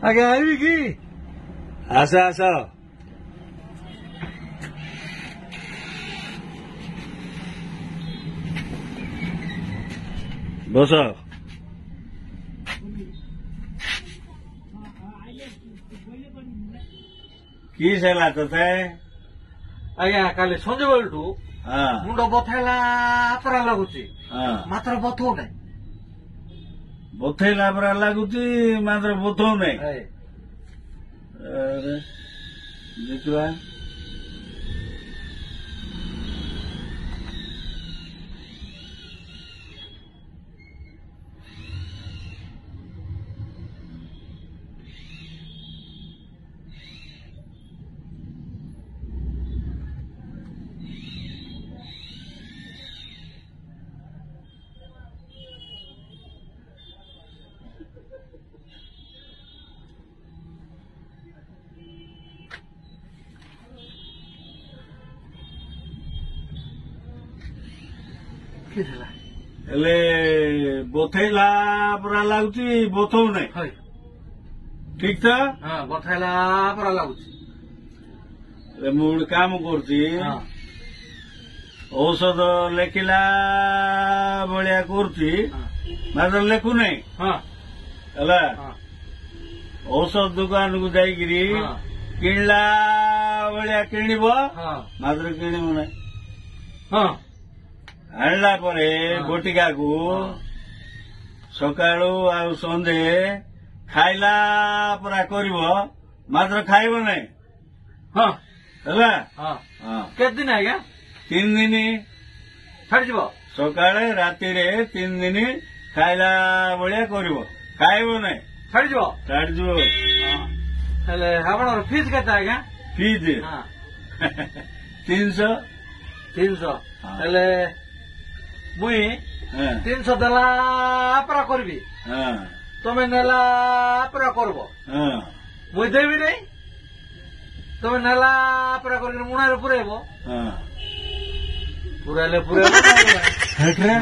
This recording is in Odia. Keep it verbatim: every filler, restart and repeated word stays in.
ଆଜ୍ଞା ଆଇବି କି? ଆସ ଆସ। ବସ। କି ହେଲା ତତେ? ଆଜ୍ଞା, କାଲି ସଞ୍ଜ ବେଳଠୁ ହଁ ମୁଣ୍ଡ ବଥେଇଲା ପରା ଲାଗୁଛି, ହଁ ମାତ୍ର ବଥଉ ନାହିଁ। ବଥେଇଲା ପରା ଲାଗୁଛି, ମାତ୍ର ବଥଉ ନାହିଁ। ଏଇ, ଆରେ, ଦେଖିବା। କି ହେଲା? ହେଲେ ବଥେଇଲା ପରା ଲାଗୁଛି, ବଥଉ ନାହିଁ। ହଇ। ଠିକ ତ? ହଁ, ବଥେଇଲା ପରା ଲାଗୁଛି। ହେଲେ ମୁଁ ଗୋଟେ କାମ କରୁଛି। ହଁ ଔଷଧ ଲେଖିଲା ଭଳିଆ କରୁଛି, ହଁ ମାତ୍ର ଲେଖୁନାହିଁ। ହଁ ହେଲା? ହଁ। ଔଷଧ ଦୋକାନକୁ ଯାଇକିରି ହଁ କିଣିଲା ଭଳିଆ କିଣିବ, ହଁ ମାତ୍ର କିଣିବ ନାହିଁ। ହଁ ଆଣିଲା ପରେ ହଁ। ବଟିକାକୁ ହଁ। ସକାଳୁ ଆଉ ସଞ୍ଜେ ଖାଇଲା ପରା କରିବ, ମାତ୍ର ଖାଇବ ନାହିଁ। ହଁ ହେଲା? ହଁ। ହଁ। କେତେ ଦିନ ଆଜ୍ଞା? ତିନି ଦିନ। ଛାଡିଯିବ? ସକାଳେ ରାତିରେ ତିନି ଦିନ ଖାଇଲା ଭଳିଆ କରିବ, ଖାଇବ ନାହିଁ। ଛାଡିଯିବ? ଛାଡ଼ିଯିବ। ହଁ। ହେଲେ ଆପଣଙ୍କର ଫିସ୍ କେତେ ଆଜ୍ଞା? ଫିଜ୍ ହଁ। ତିନିଶହ। ତିନିଶହ? ହଁ। ହେଲେ ମୁଇଁ ହଁ ତିନିଶହ ଦେଲା ପରା କରିବି, ହଁ ତମେ ନେଲା ପରା କରବ। ହଁ। ମୁଇଁ ଦେବି ନାଇଁ, ତମେ ନେଲା ପରା କରିକି ମୁଣାରେ ପୁରେଇବ। ହଁ। ପୁରାଇଲେ ପୁରେଇବ, ନହେଲେ ନାହିଁ। ହେଟ୍ରେ।